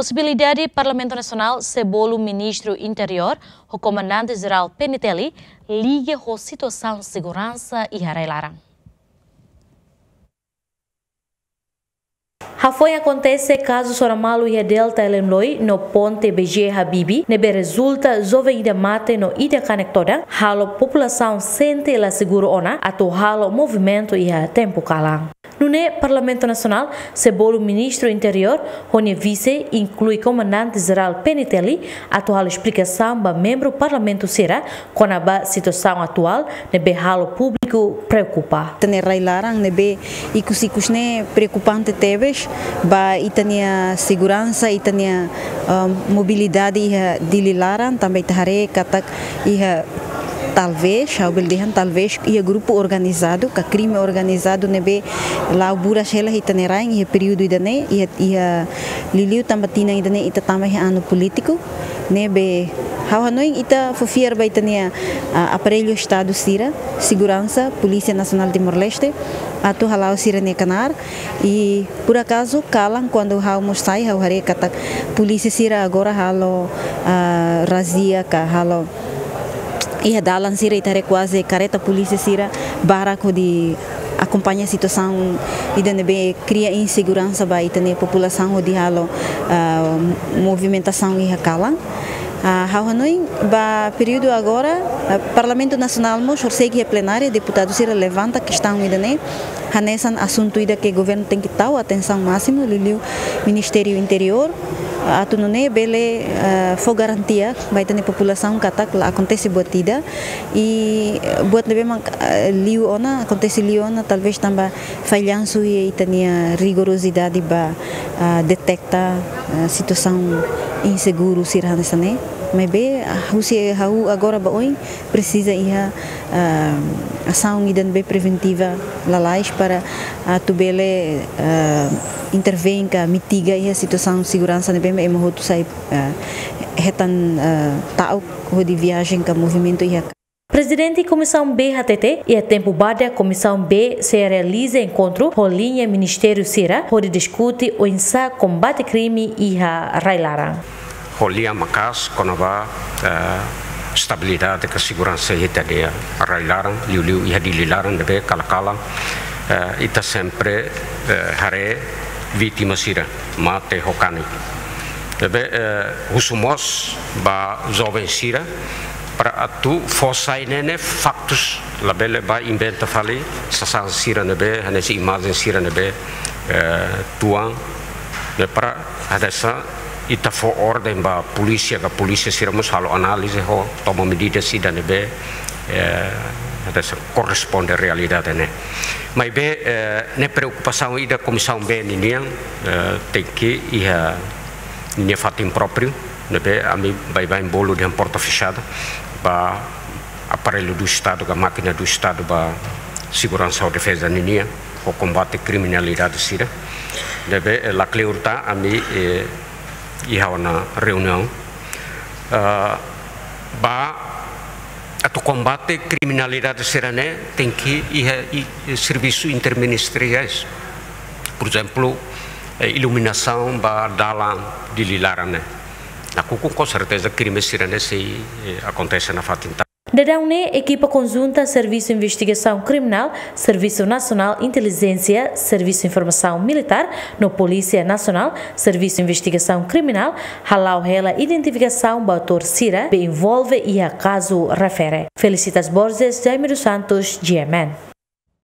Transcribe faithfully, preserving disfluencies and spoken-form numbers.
Posibilidade Parlamentu Nasionál sei bolu Ministru Interiór ho Komandante Jerál P N T L liga ho situasaun seguransa iha rai-laran. Hafoin akontese kazu sona malu iha Delta Elemloi no ponte B J Habibie, ne'ebé rezulta joven ida mate no ida kanek todan, halo populasaun sente la seguru ona atu halo movimentu iha tempu kalan. Nune'e Parlamentu Nasionál sei bolu Ministru Interiór ho nia vise, inklui Komandante Jerál P N T L, atu halo esplikasaun ba membru Parlamentu sira kona-ba situasaun atuál ne'ebé halo públiku preokupa. Ita-nia rai-laran ne'ebé ikus-ikus ne'e preokupante tebes ba ita-nia seguransa, ita-nia, ah, mobilidade iha Dili laran, tanba ita haree katak iha, talvés, ha'u bele dehan talvés iha grupu organizadu, ka krime organizadu ne'ebé la'o buras hela iha ita-nia rain iha períodu ida-ne'e, iha, iha liuliu tanba tinan ida-ne'e ita tama iha anu polítiku, ne'ebé ha'u hanoin ita fó fiar ba ita-nia, ah, aparellu Estadu sira, seguransa, Polísia Nasionál Timor-Leste, atu hala'o sira-nia knaar, i por akazu kalan kuandu ha'u mós sai ha'u haree katak polísia sira agora halo, ah, razia ka halo iha dalan sira ita haree kuaze kareta polísia sira barak hodi akompaña situasaun ida ne'ebé kria inseguransa ba ita-nia populasaun hodi halo, ah, movimentasaun iha kalan. Ah, ha'u hanoin ba períodu agora, ah, Parlamentu Nasionál mós horisehik iha plenária deputadu sira levanta kestaun ida-ne'e, hanesan asuntu ida ke governu tenke tau atensaun másimu, liuliu Ministériu Interiór, ah, atu nune'e bele, ah, fó garantia ba ita-nia populasaun katak la akontese buat ida, i buat ne'ebé mak, ah, liu ona, akontese liu ona, talvés tanba fallansu iha ita-nia rigorozidade ba, ah, detekta, ah, situasaun inseguru sira hanesan ne'e. Maibé, ah, husi ha'u agora ba oin presiza iha, ah, asaun ida ne'ebé preventiva lalais para atu bele, ah, intervein ka mitiga iha situasaun seguransa ne'ebé ema hotu sai, ah, hetan, ah, ta'uk hodi viajen ka movimentu iha Prezidente Komisaun B hatete, iha tempu badak Komisaun B sei realiza enkontru ho liña ministériu sira hodi diskute oinsá kombate krime iha rai-laran. Ho lian maka'as kona-ba, eh, estabilidade ka seguransa iha ita-nia rai-laran, liuliu iha Dili laran ne'ebé kalan-kalan, eh, ita sempre, eh, haree vítima sira mate ho kanek. Ne'ebé, eh, husu mós ba joven sira para atu fó sai ne'e ne'e faktus, labele ba inventa fali sasán sira ne'ebé, hanesan imajen sira ne'ebé, eh, tuan, ne'e para hanesan ita fó orden ba polísia, ka polísia sira mós halo análize ho toma medida sira ne'ebé, eh, hanesan korresponde realidade ne'e. Maibé, eh, ne'e preokupasaun ida Komisaun B ninian, eh, tenke iha ninia fatin própriu, ne'ebé ami baibain bolu dehan porta fechada ba aparellu do Estadu, ka mákina do Estadu ba seguransa ho defeza ninian, ho kombate kriminalidade sira. Ne'ebé, eh, lakleur tan ami, eh, iha ona reuniaun, eh, ba atu kombate kriminalidade sira-ne'e tenke iha i, i servisu interministeriais. Por ezemplu, eh, iluminasaun ba dalan Dili laran ne'e. Nakukun, com certeza, krime sira-ne'e sei, eh, akontese nafatin tan. Daudaun ne'e, ekipa konjunta Servisu Investigasaun Kriminál, Servisu Nasionál Intelijénsia, Servisu Informasaun Militár, no Polísia Nasionál, Servisu Investigasaun Kriminál, hala'o hela identifikasaun ba autór sira be envolve iha kazu refere. Felicitas Borges, Jaime dos Santos, G M N.